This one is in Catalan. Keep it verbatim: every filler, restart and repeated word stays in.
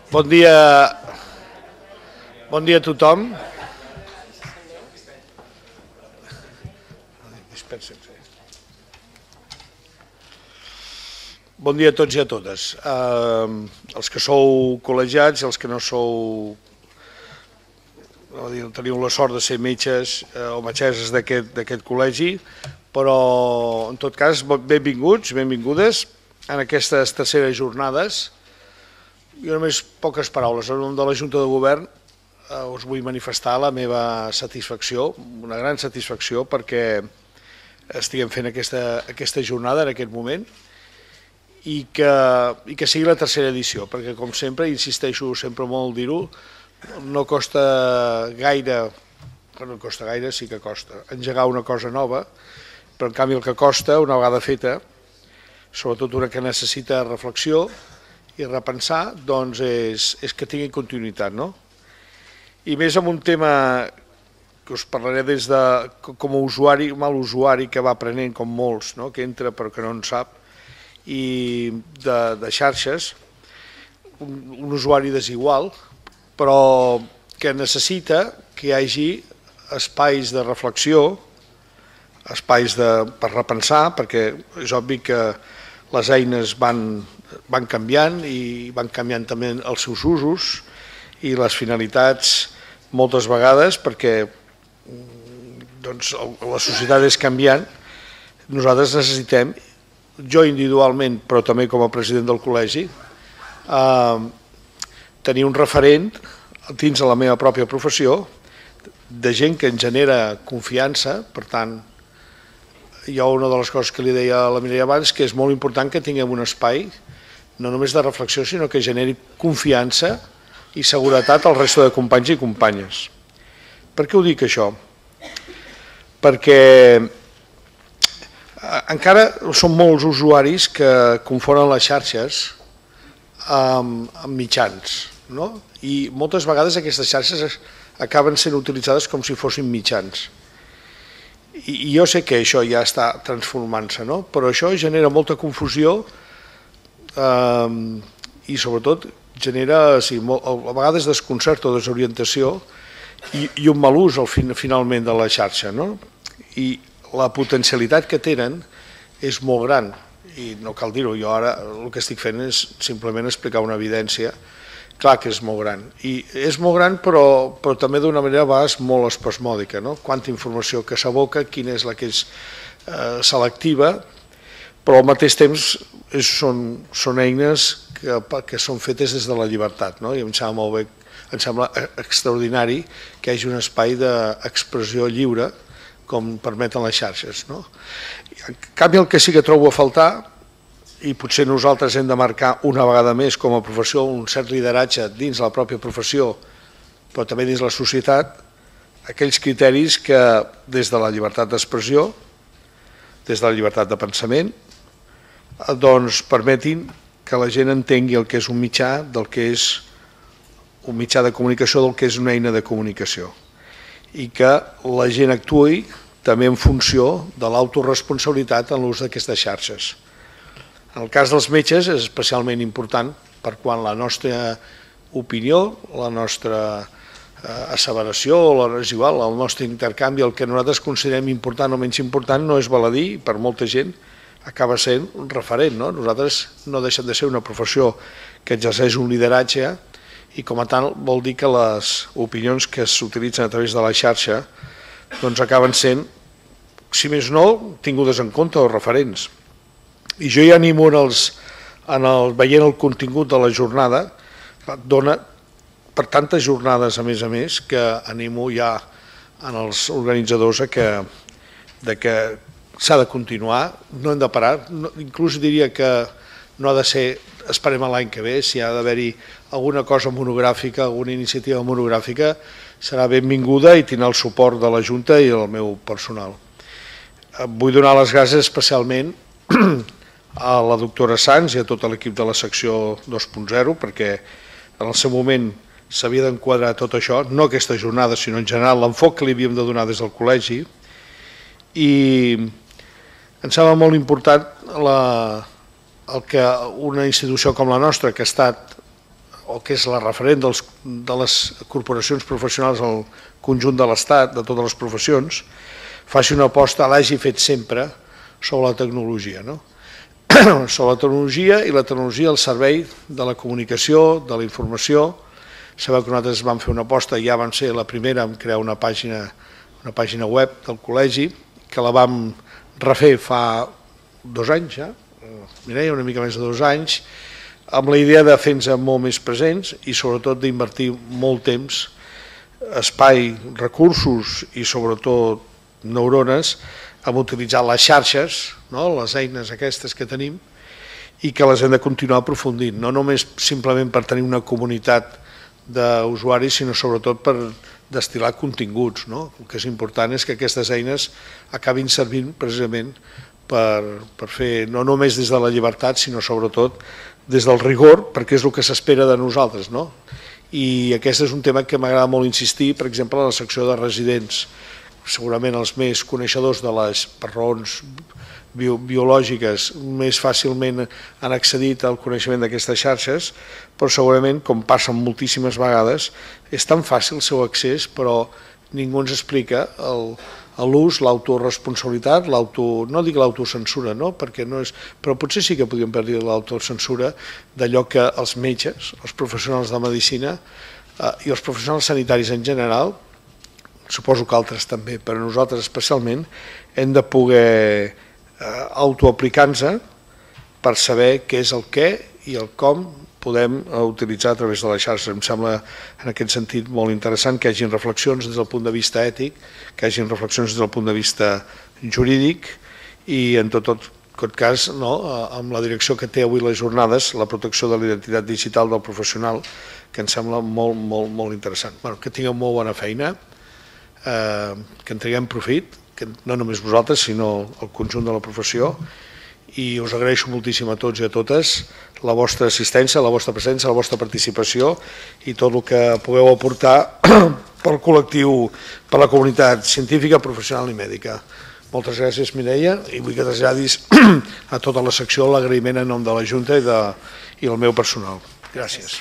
Bon dia, bon dia a tothom. Bon dia a tots i a totes. Eh, els que sou col·legiats i els que no sou, teniu la sort de ser metges eh, o metgesses d'aquest col·legi, però en tot cas benvinguts, benvingudes en aquestes terceres jornades. Jo només poques paraules. En nom de la Junta de Govern eh, us vull manifestar la meva satisfacció, una gran satisfacció perquè estiguem fent aquesta, aquesta jornada en aquest moment i que, i que sigui la tercera edició, perquè com sempre, insisteixo sempre molt dir-ho, no costa gaire, no costa gaire, sí que costa, engegar una cosa nova, però en canvi el que costa, una vegada feta, sobretot una que necessita reflexió i repensar, doncs és, és que tingui continuïtat, no? I més amb un tema que us parlaré des de, com a usuari, mal usuari que va aprenent com molts, no? Que entra però que no en sap, i de, de xarxes, un, un usuari desigual, però que necessita que hi hagi espais de reflexió, espais de, per repensar, perquè és obvi que les eines van, van canviant i van canviant també els seus usos i les finalitats moltes vegades perquè doncs, la societat és canviant. Nosaltres necessitem, jo individualment, però també com a president del col·legi, eh, tenir un referent dins de la meva pròpia professió de gent que ens genera confiança. Per tant, jo una de les coses que li deia a la Mireia abans, que és molt important que tinguem un espai no només de reflexió, sinó que generi confiança i seguretat al resto de companys i companyes. Per què ho dic això? Perquè encara són molts usuaris que confonen les xarxes amb, amb mitjans, no? I moltes vegades aquestes xarxes acaben sent utilitzades com si fossin mitjans. I jo sé que això ja està transformant-se, no? Però això genera molta confusió eh, i sobretot genera sí, molt, a vegades desconcert o desorientació i, i un mal ús al fin, finalment de la xarxa, no? I la potencialitat que tenen és molt gran i no cal dir-ho, jo ara el que estic fent és simplement explicar una evidència. Clar que és molt gran, i és molt gran però, però també d'una manera a vegades molt espasmòdica, no? Quanta informació que s'aboca, quina és la que és eh, selectiva, però al mateix temps és, són, són eines que, que són fetes des de la llibertat, no? I em sembla molt bé, em sembla extraordinari que hi hagi un espai d'expressió lliure com permeten les xarxes, no? En canvi, el que sí que trobo a faltar, i potser nosaltres hem de marcar una vegada més com a professió un cert lideratge dins la pròpia professió, però també dins la societat, aquells criteris que des de la llibertat d'expressió, des de la llibertat de pensament, doncs permetin que la gent entengui el que és un mitjà, del que és un mitjà de comunicació, del que és una eina de comunicació, i que la gent actuï també en funció de l'autoresponsabilitat en l'ús d'aquestes xarxes. En el cas dels metges és especialment important per quan la nostra opinió, la nostra asseveració, és igual, el nostre intercanvi, el que nosaltres considerem important o menys important no és baladí, per molta gent acaba sent un referent, no? Nosaltres no deixem de ser una professió que exerceix un lideratge i com a tal vol dir que les opinions que s'utilitzen a través de la xarxa doncs acaben sent, si més no, tingudes en compte o referents. I jo ja animo en els, en el, veient el contingut de la jornada, dona per tantes jornades a més a més que animo ja en els organitzadors a que, de que s'ha de continuar, no hem de parar, no, inclús diria que no ha de ser, esperem l'any que ve, si ha d'haver-hi alguna cosa monogràfica, alguna iniciativa monogràfica, serà benvinguda i tindrà el suport de la Junta i el meu personal. Vull donar les gràcies especialment a la doctora Sans i a tot l'equip de la secció dos punt zero, perquè en el seu moment s'havia d'enquadrar tot això, no aquesta jornada, sinó en general l'enfoc que li havíem de donar des del col·legi, i em sembla molt important la, el que una institució com la nostra, que ha estat o que és la referent dels, de les corporacions professionals al conjunt de l'Estat, de totes les professions, faci una aposta, l'hagi fet sempre, sobre la tecnologia, no? Sobre la tecnologia i la tecnologia al servei de la comunicació, de la informació. Sabeu que nosaltres vam fer una aposta, ja vam ser la primera en crear una pàgina, una pàgina web del col·legi, que la vam refer fa dos anys ja, Mireia, una mica més de dos anys, amb la idea de fer-nos molt més presents i sobretot d'invertir molt temps, espai, recursos i sobretot neurones en utilitzar les xarxes, no? Les eines aquestes que tenim, i que les hem de continuar aprofundint, no només simplement per tenir una comunitat d'usuaris, sinó sobretot per destil·lar continguts, no? El que és important és que aquestes eines acabin servint precisament per, per fer, no només des de la llibertat, sinó sobretot des del rigor, perquè és el que s'espera de nosaltres, no? I aquest és un tema que m'agrada molt insistir, per exemple, a la secció de residents. Segurament els més coneixedors de les, per raons bio, biològiques, més fàcilment han accedit al coneixement d'aquestes xarxes, però segurament, com passa moltíssimes vegades, és tan fàcil el seu accés, però ningú ens explica l'ús, l'autoresponsabilitat, l'auto, no dic l'autocensura, no? Perquè no és, però potser sí que podríem dir l'autocensura d'allò que els metges, els professionals de medicina eh, i els professionals sanitaris en general, suposo que altres també, però nosaltres especialment, hem de poder eh, autoaplicar-nos per saber què és el què i el com podem utilitzar a través de la xarxa. Em sembla en aquest sentit molt interessant que hi hagin reflexions des del punt de vista ètic, que hi hagin reflexions des del punt de vista jurídic i en tot, tot, tot cas, no, amb la direcció que té avui les jornades, la protecció de la identitat digital del professional, que em sembla molt, molt, molt interessant. Bueno, que tingueu molt bona feina, eh, que en traguem profit, que no només vosaltres, sinó el conjunt de la professió, i us agraeixo moltíssim a tots i a totes la vostra assistència, la vostra presència, la vostra participació i tot el que pugueu aportar pel col·lectiu, per la comunitat científica, professional i mèdica. Moltes gràcies, Mireia, i vull que traslladis a tota la secció l'agraïment en nom de la Junta i, de, i el meu personal. Gràcies.